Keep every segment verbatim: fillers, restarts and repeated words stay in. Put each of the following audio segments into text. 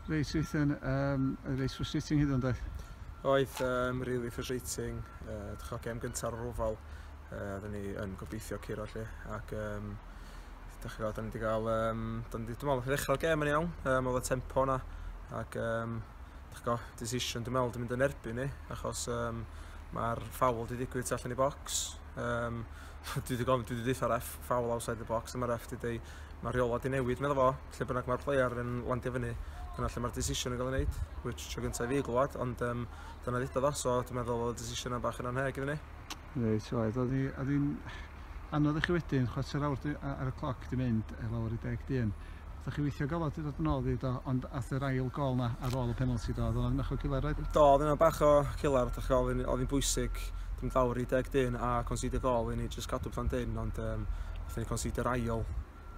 Reit, Ethan, um, reit frustrating hyd yn doedd? Oedd, um, really frustrating. Uh, Dechrau gêm gyntaf ar yr Oval, uh, oedden ni yn gobeithio curo lle. Ac um, dechrau, da ni wedi cael, um, da ni, dwi'n meddwl, ddechrau'r gêm yn iawn, um, oedd y tempo na. Ac um, dechrau, decision dwi'n meddwl, dwi'n mynd yn erbyn ni, achos um, mae'r foul wedi digwydd tu allan i box. Um, dwi wedi gofyn, dwi wedi deutha ref, foul outside the box, a mae'r ref wedi dweud, mae'r rheola wedi newid, meddwl fo, lle bynnag mae'r player yn landio fyny, dyna lle mae'r decision yn cael ei wneud, which tro gyntaf i fi glwad, ond um, dyna ddudodd o, so dwi'n meddwl oedd y decision yna bach yn anheg iddyn ni. Reit, oedd, oedd hi- oedd hi'n anodd i chi wedyn, chwarter awr di- ar y cloc di mynd e, lawr i deg dyn. Ydych chi weithio galad i ddod yn ôl i do, ond ath yr ail gol na ar ôl y penalty do, oedd o'n bach o killer oedd? Do, oedd yna bach o killer, dach chi, oedd hi'n- oedd hi'n bwysig, dwi'n lawr i deg dyn a concede gol i ni just cadw pethau'n dyn, ond um, nathon ni concede yr ail,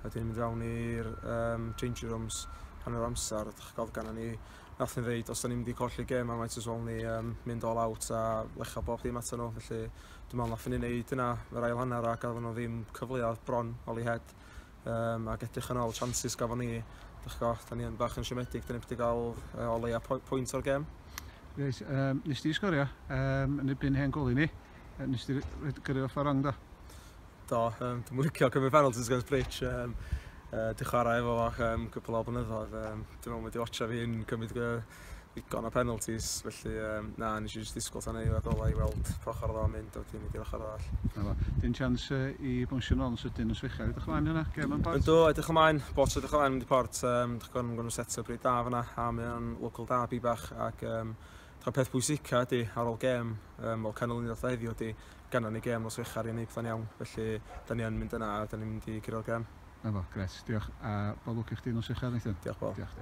wedyn mynd fewn i'r um, changing rooms hanner amser, dach chi, oedd ganna ni, nath ni ddeud, os da ni'n mynd i colli gêm, a might as well ni um, mynd all out a lecha bob dim ato nhw, felly dwi'n meddwl nathon ni wneud yna yr ail hanner a gafon nhw ddim cyfleoedd bron Holyhead, um, ac edrych yn ôl chances gafon ni, dach chi, da ni yn bach yn siomedig, da ni wedi cael uh, o leia pwynt o'r gêm. Reit, um, nes di sgorio um, yn erbyn hen goli ni, yy, nes di gyrru off ar wrong do? Do, um, dwi'n licio cymryd penalties against Bridge. Um, uh, di chwarae efo fo um, cwpl o blynyddoedd. Um, dwi'n meddwl wedi watcha fi'n cymryd uh, ddigon o penalties, felly um, na, nes i jyst disgwyl tan ei golau i weld pa ochr oedd o'n mynd, a wedyn mynd i'r ochr arall. Na fo. Dim chance uh, i bownsio nôl yn sydyn nos Fechar. Edrych ymlaen yna, gêm yn Port? Yndw, edrych ymlaen, bot edrych ymlaen mynd i Port, um, dych chi'n gwneud set-up reit da fyna, a mae o'n local derby bach, ac um, dych peth pwysica ydy ar ôl gêm, um, o canlyniad heddiw ydy, ganna ni gêm nos Fechar i wneud pethau'n iawn, felly da ni yn mynd yna a da ni'n mynd i curo'r gêm. Na fo, gret, diolch. A bob lwc i chdi nos Fechar, Nathan. Diolch, Paul. Diolch.